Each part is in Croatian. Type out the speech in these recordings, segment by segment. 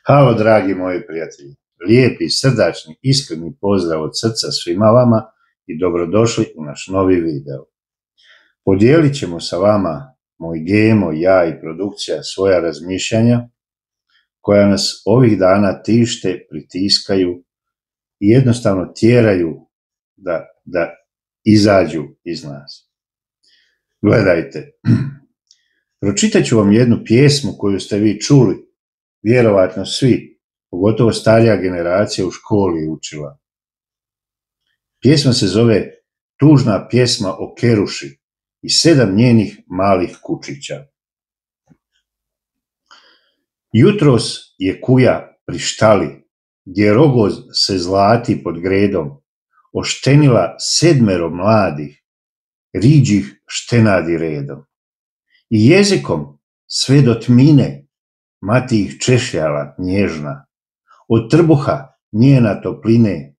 Halo, dragi moji prijatelji. Lijepi, srdačni, iskreni pozdrav od srca svima vama i dobrodošli u naš novi video. Podijelit ćemo sa vama, moj Gemo, ja i produkcija, svoja razmišljanja koja nas ovih dana tište, pritiskaju i jednostavno tjeraju da izađu iz nas. Gledajte, pročitat ću vam jednu pjesmu koju ste vi čuli, vjerovatno svi, pogotovo starija generacija u školi učila. Pjesma se zove Tužna pjesma o Keruši i 7 njenih malih kučića. Jutros je kuja pri štali, gdje rogoz se zlati pod gredom, oštenila 7 mladih, riđih štenadi redom. I jezikom sve do tmine mati ih češljala nježna, od trbuha njena topline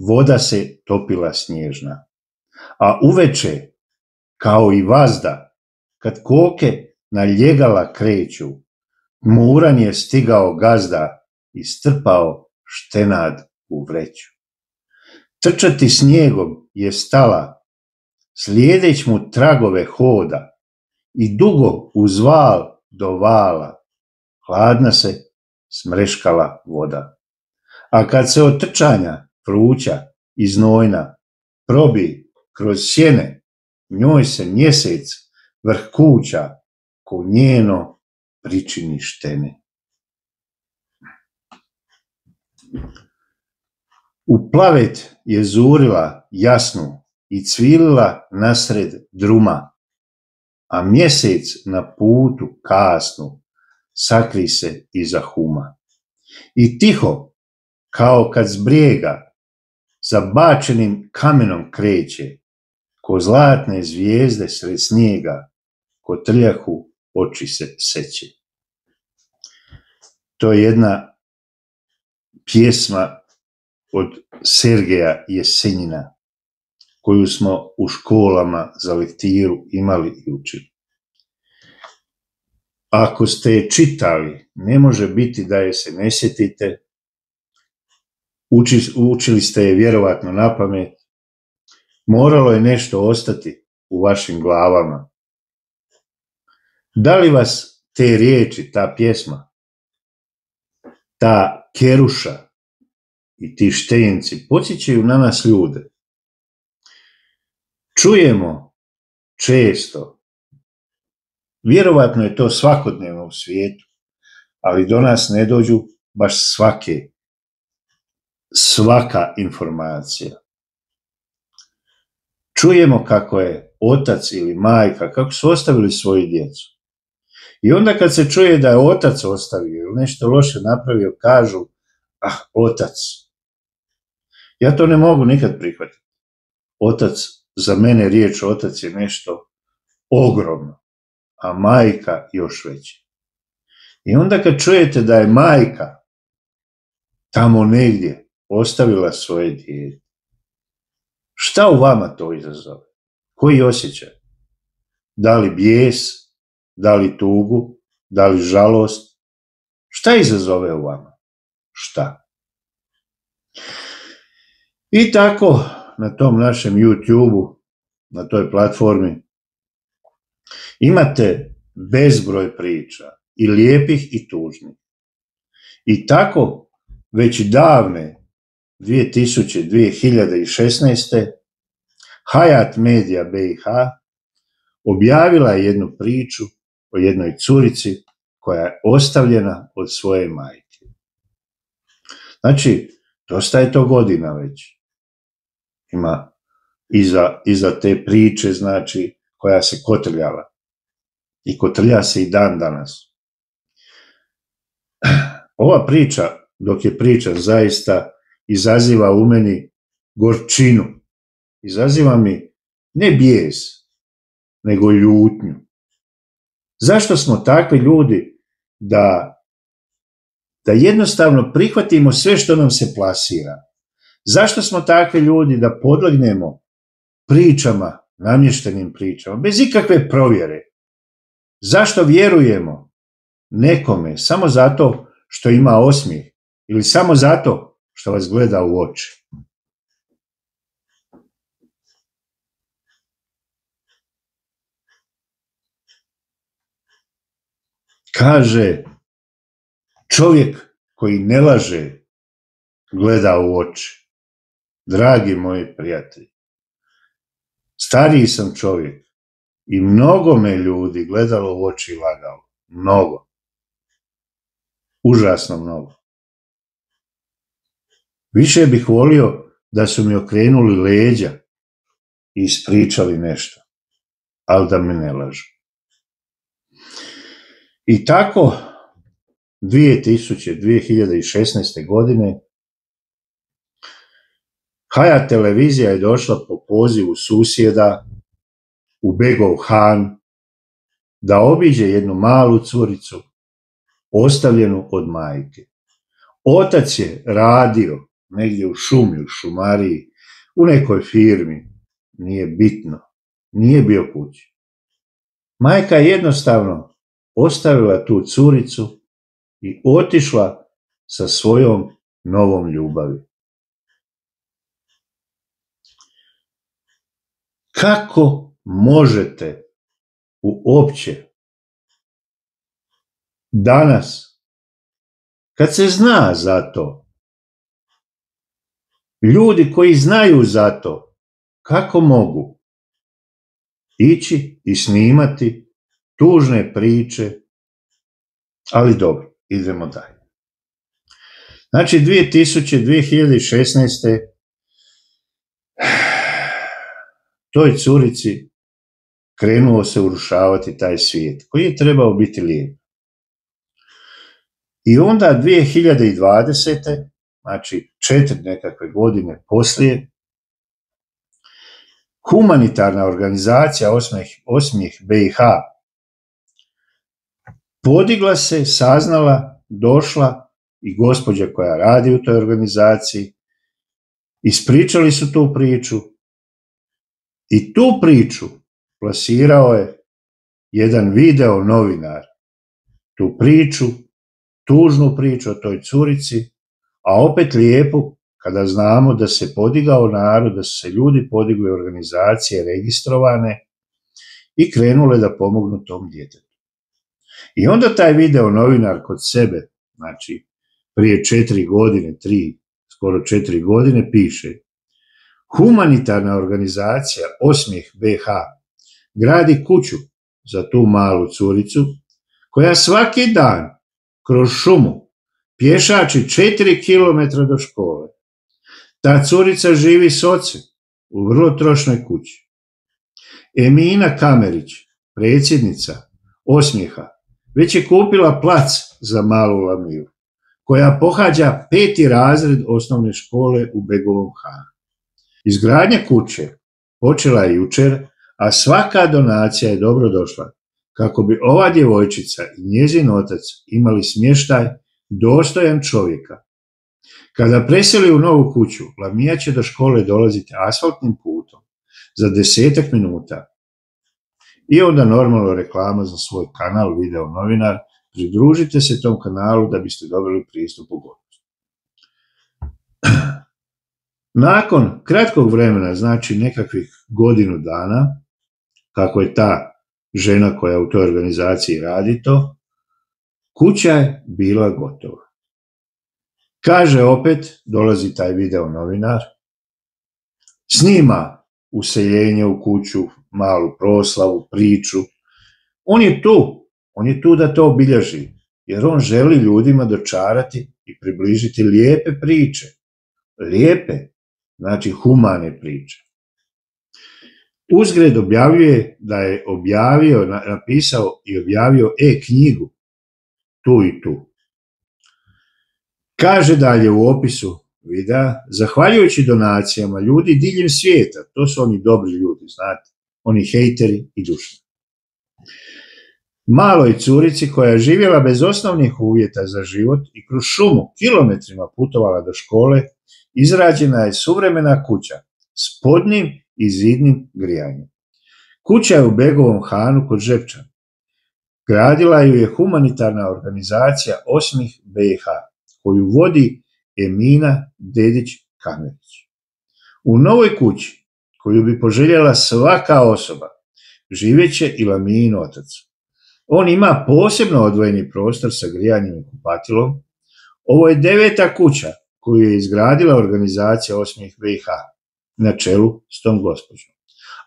voda se topila snježna. A uveče, kao i vazda, kad koke na ljegala kreću, muran je stigao gazda i strpao štenad u vreću. Trčati snijegom je stala, slijedeć mu tragove hoda, i dugo uz val do vala hladna se smreškala voda. A kad se od trčanja vruća i znojna probi kroz sjene, njoj se mjesec vrh kuća ko njeno pričini štene. U plavet je zurila jasnu i cvilila nasred druma, a mjesec na putu kasnu sakri se iza huma. I tiho, kao kad s brijega zabačenim kamenom kreće, ko zlatne zvijezde sred snijega, ko trljahu oči se seće. To je jedna pjesma od Sergeja Jesenjina, koju smo u školama za lektiru imali i učili. Ako ste je čitali, ne može biti da je se ne sjetite, učili ste je vjerovatno na pamet, moralo je nešto ostati u vašim glavama. Da li vas te riječi, ta pjesma, ta Keruša i ti štenci podsjećaju na nas ljude? Čujemo često, vjerovatno je to svakodnevno u svijetu, ali do nas ne dođu baš svaka informacija. Čujemo kako je otac ili majka, kako su ostavili svoju djecu. I onda kad se čuje da je otac ostavio ili nešto loše napravio, kažu, otac. Ja to ne mogu nikad prihvatiti. Otac, za mene riječ otac je nešto ogromno, a majka još veća. I onda kad čujete da je majka tamo negdje ostavila svoje dijete, šta u vama to izazove? Koji osjećaj? Da li bijes, da li tugu, da li žalost? Šta izazove u vama? Šta? I tako, na tom našem YouTube-u, na toj platformi, imate bezbroj priča, i lijepih i tužnih. I tako, već davne 2016. Hayat Media BiH objavila je jednu priču o jednoj curici koja je ostavljena od svoje majke. Znači, dosta je to godina već. Ima iza te priče, znači, koja se kotrljala. I kotrlja se i dan danas. Ova priča, dok je priča, zaista izaziva u meni gorčinu. Izaziva mi ne bijes, nego ljutnju. Zašto smo takvi ljudi da jednostavno prihvatimo sve što nam se plasira? Zašto smo takvi ljudi da podlegnemo pričama, namještenim pričama, bez ikakve provjere? Zašto vjerujemo nekome samo zato što ima osmijeh ili samo zato što vas gleda u oči? Kaže, čovjek koji ne laže gleda u oči. Dragi moji prijatelji, stariji sam čovjek i mnogo me ljudi gledalo u oči i lagalo. Mnogo. Užasno mnogo. Više bih volio da su mi okrenuli leđa i ispričali nešto, ali da me ne lažu. I tako 2016. godine Hayat televizija je došla po pozivu susjeda u Begov Han da obiđe jednu malu curicu ostavljenu od majke. Otac je radio negdje u šumi, u šumariji, u nekoj firmi, nije bitno, nije bio kući. Majka je jednostavno ostavila tu curicu i otišla sa svojom novom ljubavi. Kako možete uopće danas, kad se zna za to, ljudi koji znaju za to, kako mogu ići i snimati tužne priče, ali dobro, idemo dalje. Znači, 2016. toj curici krenuo se urušavati taj svijet, koji je trebao biti lijep. I onda 2020. znači 4 nekakve godine poslije, humanitarna organizacija Osmijeh BiH podigla se, saznala, došla i gospođa koja radi u toj organizaciji, ispričali su tu priču i tu priču plasirao je jedan video novinar. Tu priču, tužnu priču o toj curici, a opet lijepu kada znamo da se podigao narod, da su se ljudi podigli, organizacije registrovane i krenule da pomognu tom djetetu. I onda taj video novinar kod sebe, znači prije 4 godine, 3, skoro 4 godine, piše: humanitarna organizacija Osmijeh BiH gradi kuću za tu malu curicu koja svaki dan kroz šumu pješači 4 km do škole. Ta curica živi s ocem u vrlo trošnoj kući. Emina Kamerić, predsjednica Osmijeha, već je kupila plac za malu Lamiju, koja pohađa 5. razred osnovne škole u Begovom Hanu. Izgradnja kuće počela je jučer, a svaka donacija je dobro došla kako bi ova djevojčica i njezin otac imali smještaj dostojan čovjeka. Kada preseli u novu kuću, Lamija će do škole dolaziti asfaltnim putom za 10 minuta. I onda normalno reklama za svoj kanal Video novinar. Pridružite se tom kanalu da biste dobili pristup u gotovost. Nakon kratkog vremena, znači nekakvih godinu dana, kako je ta žena koja u toj organizaciji radi to, kuća je bila gotova. Kaže opet, dolazi taj video novinar, snima useljenje u kuću, malu proslavu, priču. On je tu da to obilježi, jer on želi ljudima dočarati i približiti lijepe priče. Lijepe, znači humane priče. Uzgred objavljuje da je napisao i objavio e-knjigu tu i tu. Kaže dalje u opisu videa, zahvaljujući donacijama ljudi diljem svijeta, to su oni dobri ljudi, znate, oni hejteri i dušni. Maloj curici koja je živjela bez osnovnih uvjeta za život i kroz šumu kilometrima putovala do škole, izrađena je suvremena kuća s podnim i zidnim grijanjem. Kuća je u Begovom Hanu kod Žepčana. Gradila ju je humanitarna organizacija Osmih BiH, koju vodi Emina Dedić-Kamerić. U novoj kući, koju bi poželjela svaka osoba, živjeće i Lamin otac. On ima posebno odvojeni prostor sa grijanjem i kupatilom. Ovo je 9. kuća koju je izgradila organizacija Osmih BiH na čelu s tom gospođom.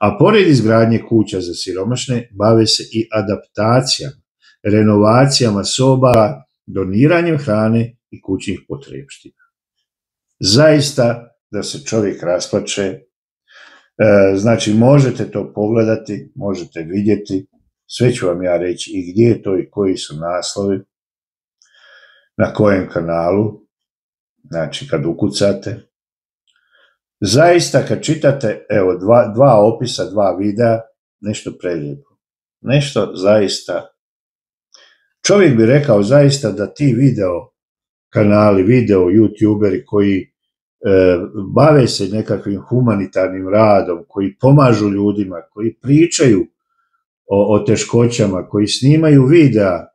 A pored izgradnje kuća za siromašne, bave se i adaptacijama, renovacijama soba, doniranjem hrane i kućnih potrepština. Zaista da se čovjek rasplače, znači možete to pogledati, možete vidjeti, sve ću vam ja reći i gdje je to i koji su naslovi, na kojem kanalu, znači kad ukucate. Zaista kad čitate, evo, dva opisa, 2 videa, nešto prelijepo. Nešto zaista, čovjek bi rekao zaista da ti video kanali, video youtuberi koji bave se nekakvim humanitarnim radom, koji pomažu ljudima, koji pričaju o teškoćama, koji snimaju videa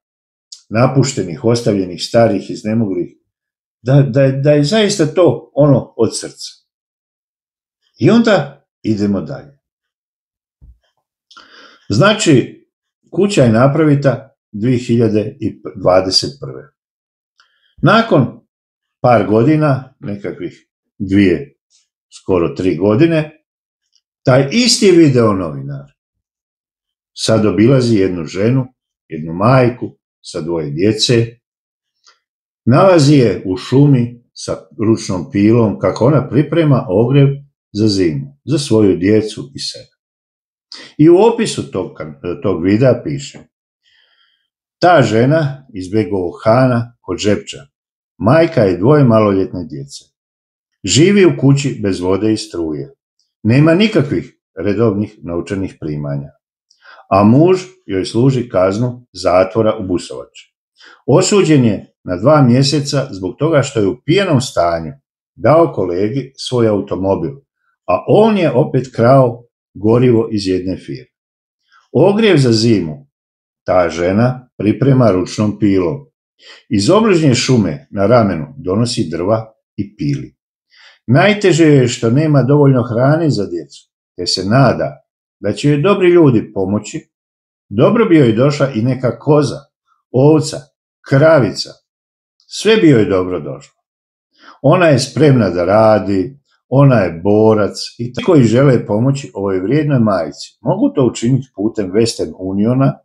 napuštenih, ostavljenih, starih, iznemoglih, da je zaista to ono od srca. I onda idemo dalje. Znači, kuća je napravita 2021. Nakon par godina, nekakvih 2, skoro 3 godine, taj isti video novinar sad obilazi jednu ženu, jednu majku sa 2 djece, nalazi je u šumi sa ručnom pilom kako ona priprema ogrjev za zimu, za svoju djecu i sebe. I u opisu tog videa piše: ta žena iz Begovog Hana kod Žepča, majka je 2 maloljetne djece. Živi u kući bez vode i struje. Nema nikakvih redovnih novčanih primanja. A muž joj služi kaznu zatvora u Busovači. Osuđen je na 2 mjeseca zbog toga što je u pijanom stanju dao kolegi svoj automobil, a on je opet krao gorivo iz jedne firme. Ogrjev za zimu ta žena priprema ručnom pilom. Iz obližnje šume na ramenu donosi drva i pili. Najteže je što nema dovoljno hrane za djecu, te se nada da će joj dobri ljudi pomoći. Dobro bi joj došla i neka koza, ovca, kravica. Sve bi joj dobro došlo. Ona je spremna da radi, ona je borac i ti koji žele pomoći ovoj vrijednoj majci mogu to učiniti putem Western Uniona,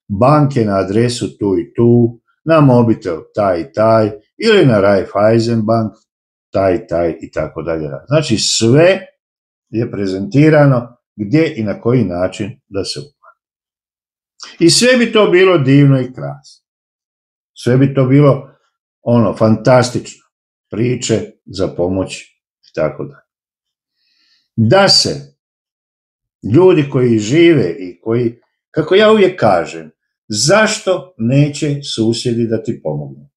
banke na adresu tu i tu, na mobitel taj i taj ili na Raiffeisen bank taj i taj i tako dalje. Znači sve je prezentirano gdje i na koji način da se uplati. I sve bi to bilo divno i krasno. Sve bi to bilo fantastično. Priče za pomoć i tako dalje. Da se ljudi koji žive i koji, kako ja uvijek kažem, zašto neće susjedi da ti pomognu?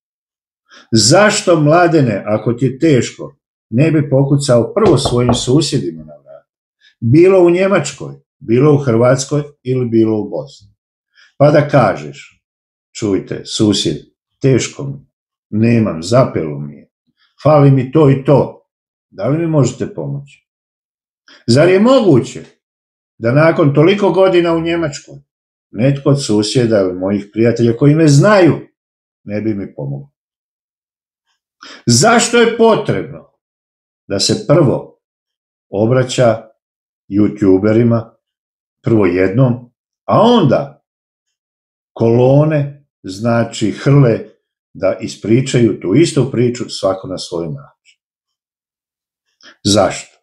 Zašto, Mladene, ako ti je teško, ne bi pokucao prvo svojim susjedima na vrat? Bilo u Njemačkoj, bilo u Hrvatskoj ili bilo u Bosni. Pa da kažeš: čujte, susjed, teško mi, nemam, zapelo mi je, fali mi to i to, da li mi možete pomoći? Zar je moguće da nakon toliko godina u Njemačkoj netko od susjeda ili mojih prijatelja koji me znaju ne bi mi pomogao? Zašto je potrebno da se prvo obraća youtuberima, prvo jednom, a onda kolone, znači hrle, da ispričaju tu istu priču svako na svoj način? Zašto?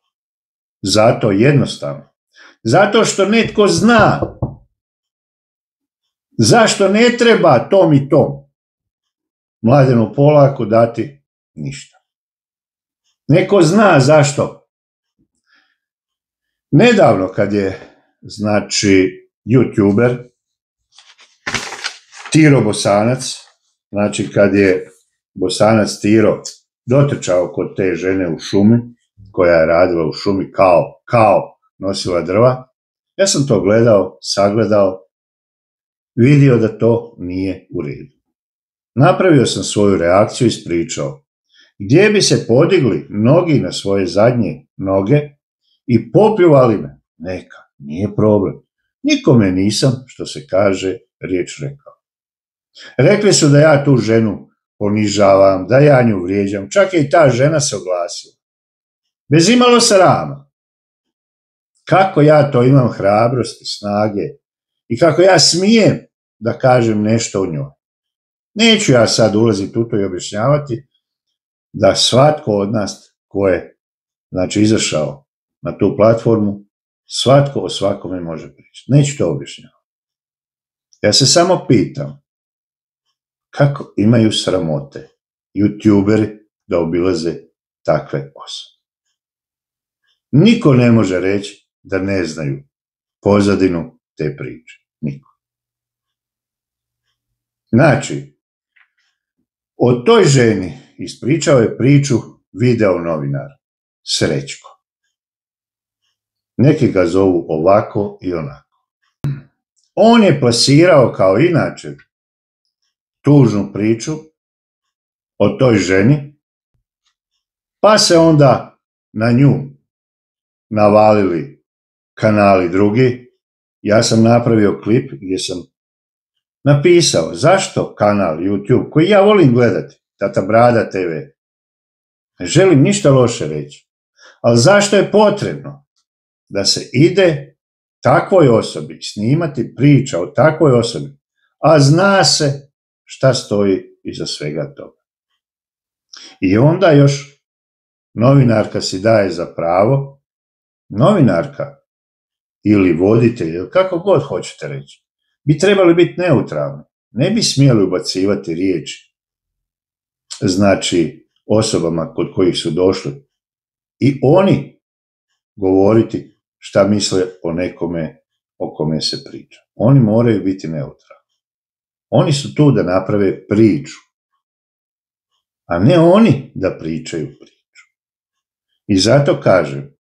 Zato jednostavno. Zato što netko zna. Zašto ne treba tom i tom Mladenu Polaku dati ništa? Neko zna zašto. Nedavno kad je, znači, youtuber Tiro Bosanac, znači kad je Bosanac Tiro dotrčao kod te žene u šumi, koja je radila u šumi kao nosila drva, ja sam to gledao, sagledao vidio da to nije u redu. Napravio sam svoju reakciju i ispričao. Gdje bi se podigli mnogi na svoje zadnje noge i popljuvali me, neka, nije problem. Nikome nisam, što se kaže, riječ rekao. Rekli su da ja tu ženu ponižavam, da ja nju vrijeđam, čak je i ta žena se oglasila. Bez imalo srama. Kako ja to imam hrabrosti, snage i kako ja smijem da kažem nešto o njoj. Neću ja sad ulaziti u to i objašnjavati da svatko od nas ko je izašao na tu platformu, svatko o svakome može pričati. Neću to objašnjavati. Ja se samo pitam kako imaju sramote youtuberi da obilaze takve osobe. Niko ne može reći da ne znaju pozadinu te priče. Niko. Znači, o toj ženi ispričao je priču video novinar Srećko. Neki ga zovu ovako i onako. On je plasirao kao inače tužnu priču o toj ženi, pa se onda na nju navalili kanali drugi. Ja sam napravio klip gdje sam napisao zašto kanal YouTube, koji ja volim gledati, Tata Brada TV, ne želim ništa loše reći, ali zašto je potrebno da se ide takvoj osobi snimati priča o takvoj osobi, a zna se šta stoji iza svega toga. I onda još novinarka si daje za pravo, novinarka ili voditelj, ili kako god hoćete reći, bi trebali biti neutralni. Ne bi smjeli ubacivati riječi, osobama kod kojih su došli i oni govoriti šta misle o nekome o kome se priča. Oni moraju biti neutralni. Oni su tu da naprave priču, a ne oni da pričaju priču. I zato kažem,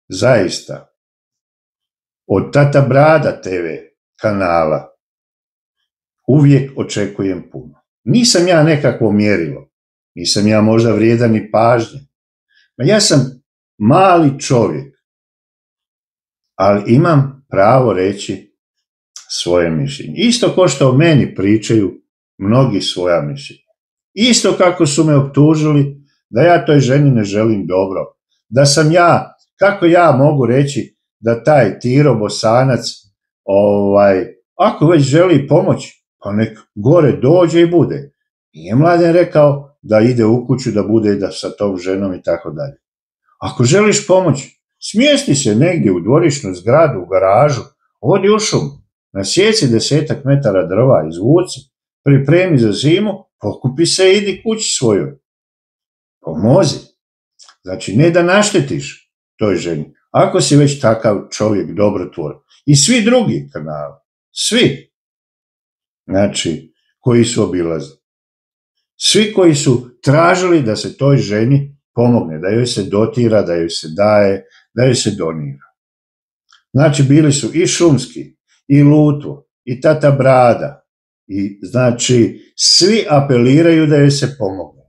zaista, od Tata Brada TV kanala uvijek očekujem puno. Nisam ja nekakvo mjerilo, nisam ja možda vrijedan ni pažnje. Ja sam mali čovjek, ali imam pravo reći svoje mišljenje. Isto kao što o meni pričaju mnogi svoja mišljenja. Isto kako su me optužili da ja toj ženi ne želim dobro. Da sam ja, kako ja mogu reći da taj Tiro Bosanac, ako već želi pomoć, pa nek gore dođe i bude. Nije Mladen rekao da ide u kuću, da bude da sa tom ženom i tako dalje. Ako želiš pomoć, smjesti se negdje u dvorišnu zgradu, u garažu, odi u šumu, nasjeci 10 metara drva, izvuci, pripremi za zimu, pokupi se i idi kući svojoj. Pomozi. Znači, ne da naštetiš toj ženi. Ako si već takav čovjek dobrotvor. I svi drugi kanali, svi, koji su obilazili. Svi koji su tražili da se toj ženi pomogne, da joj se dotira, da joj se daje, da joj se donira. Znači, bili su i Šumski, i Lutvo, i Tata Brada, i svi apeliraju da joj se pomogne.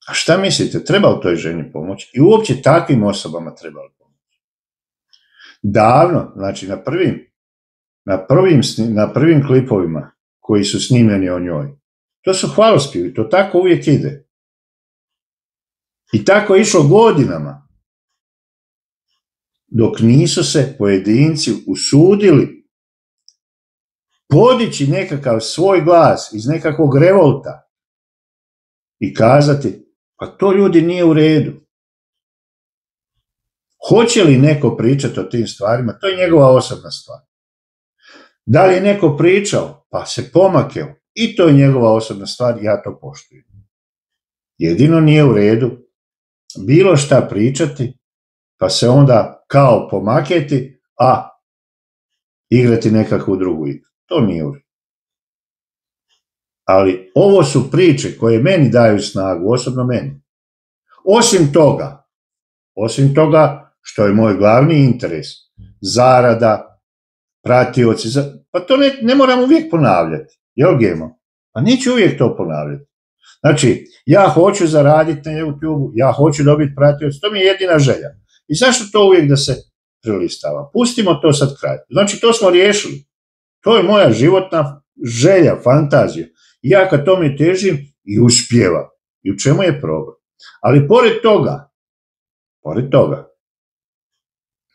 A šta mislite, treba u toj ženi pomoći? I uopće takvim osobama treba pomoći. Davno, na prvim klipovima koji su snimljeni o njoj, to su hvalospjevi, to tako uvijek ide. I tako je išlo godinama, dok nisu se pojedinci usudili podići nekakav svoj glas iz nekakvog revolta i kazati, pa to ljudi nije u redu. Hoće li neko pričati o tim stvarima, to je njegova osobna stvar. Da li je neko pričao, pa se pomakeo, i to je njegova osobna stvar, ja to poštujem. Jedino nije u redu bilo šta pričati, pa se onda kao pomaketi, a igrati nekakvu drugu igru. To nije u redu. Ali ovo su priče koje meni daju snagu, osobno meni. Osim toga što je moj glavni interes zarada, pratioci, pa to ne moram uvijek ponavljati, jel Gemo? Pa neću uvijek to ponavljati. Znači, ja hoću zaraditi na YouTube-u, ja hoću dobiti pratioci, to mi je jedina želja. I zašto to uvijek da se prelistava? Pustimo to sad kraj. Znači, to smo riješili. To je moja životna želja, fantazija. I ja kad tome težim i uspjevam. I u čemu je problem? Ali pored toga,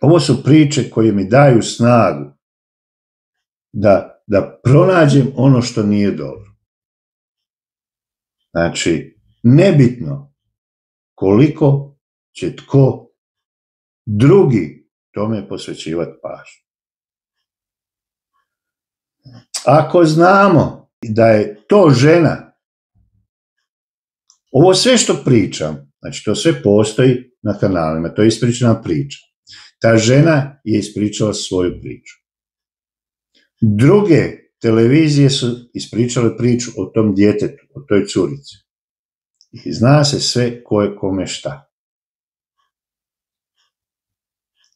ovo su priče koje mi daju snagu da pronađem ono što nije dobro. Znači, nebitno koliko će tko drugi tome posvećivati pažnju. Ako znamo da je to žena, ovo sve što pričam, znači to sve postoji na kanalima, to je ispričana priča. Ta žena je ispričala svoju priču. Druge televizije su ispričale priču o tom djetetu, o toj curici. I zna se sve ko je kome šta.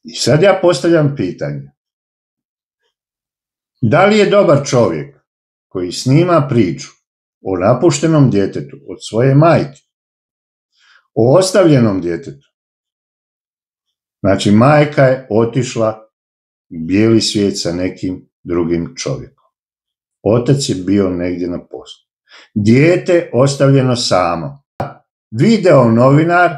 I sad ja postavljam pitanje. Da li je dobar čovjek koji snima priču o napuštenom djetetu od svoje majke, o ostavljenom djetetu? Znači, majka je otišla u bijeli svijet sa nekim drugim čovjekom. Otac je bio negdje na poslu. Dijete ostavljeno samo. Video novinar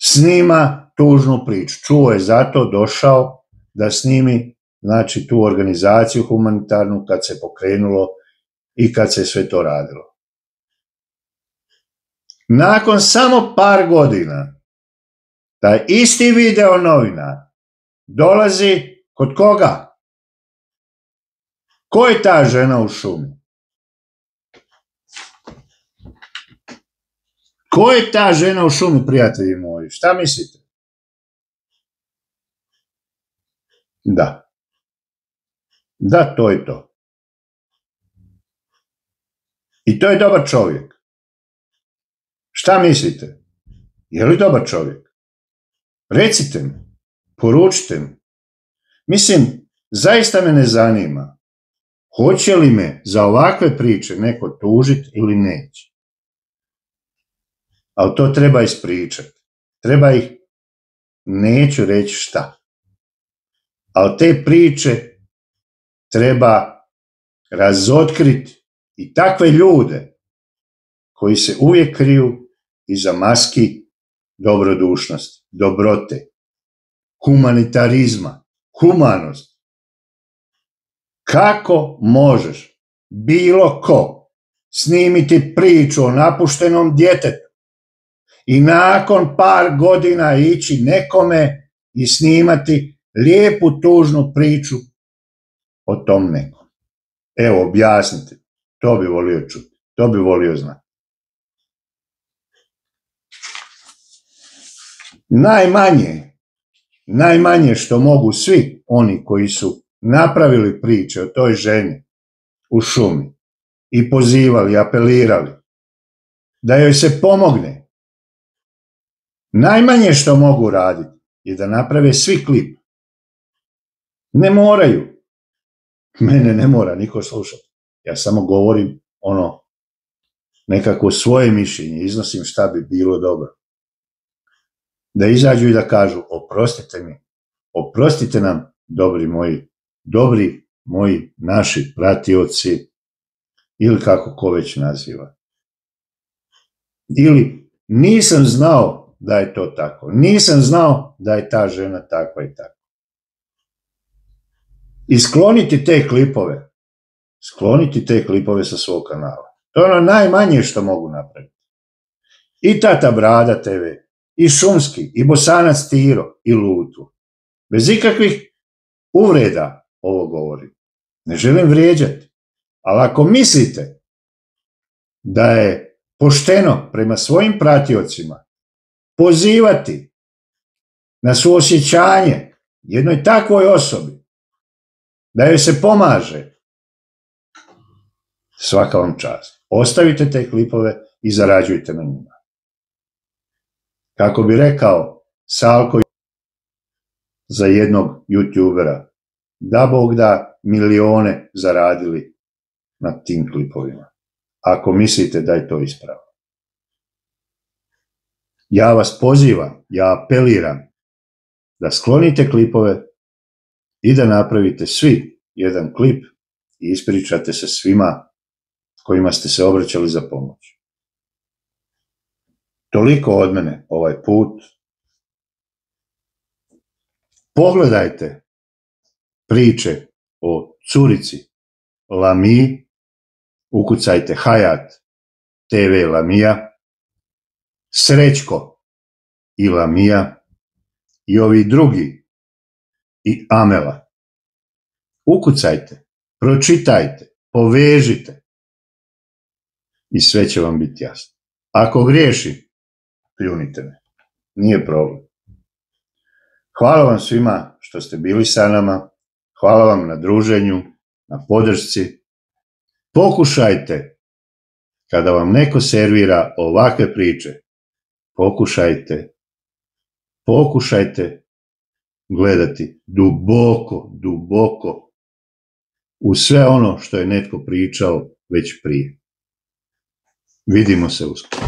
snima tužnu priču. Čuo je zato, došao da snimi, znači, tu organizaciju humanitarnu kad se pokrenulo i kad se sve to radilo. Nakon samo par godina taj isti video novinar dolazi kod koga? Ko je ta žena u šumi? Ko je ta žena u šumi, prijatelji moji? Šta mislite? Da. Da, to je to. I to je dobar čovjek. Šta mislite? Je li dobar čovjek? Recite mi, poručite mi. Mislim, zaista me ne zanima hoće li me za ovakve priče neko tužiti ili neće. Ali to treba ispričati. Treba ih, neću reći šta. Ali te priče treba razotkriti i takve ljude koji se uvijek kriju iza maski dobrodušnosti, dobrote, humanitarizma, humanosti. Kako možeš bilo ko snimiti priču o napuštenom djetetu i nakon par godina ići nekome i snimati lijepu tužnu priču o tom nekom? Evo, objasnite. To bi volio čuti. To bi volio znati. Najmanje što mogu svi oni koji su napravili priče o toj ženi u šumi i pozivali, apelirali da joj se pomogne, najmanje što mogu raditi je da naprave svi klip. Ne moraju. Mene ne mora niko slušati. Ja samo govorim nekako svoje mišljenje, iznosim šta bi bilo dobro. Da izađu i da kažu, oprostite mi, oprostite nam, dobri moji naši pratioci, ili kako ko već naziva. Ili nisam znao da je to tako, nisam znao da je ta žena takva i takva. I skloniti te klipove sa svog kanala. To je ono najmanje što mogu napraviti. I Tata Brada TV, i Šumski, i Bosanac Tiro, i Lutu. Bez ikakvih uvreda ovo govorim. Ne želim vrijeđati. Ali ako mislite da je pošteno prema svojim pratiocima pozivati na suosjećanje jednoj takvoj osobi, da joj se pomaže, svaka vam čast. Ostavite te klipove i zarađujte na njima. Kako bi rekao Salko za jednog youtubera, da Bog da milijone zaradili na tim klipovima. Ako mislite da je to ispravno. Ja vas pozivam, ja apeliram da sklonite klipove i da napravite svi jedan klip i ispričate se svima kojima ste se obraćali za pomoć. Toliko od mene ovaj put. Pogledajte priče o curici Lamiji, ukucajte Hayat TV Lamija, Srećko i Lamija i ovi drugi i Amela. Ukucajte, pročitajte, povežite i sve će vam biti jasno. Ako griješim, pljunite me. Nije problem. Hvala vam svima što ste bili sa nama. Hvala vam na druženju, na podršci. Pokušajte, kada vam neko servira ovakve priče, pokušajte gledati duboko u sve ono što je netko pričao već prije. Vidimo se uskoro.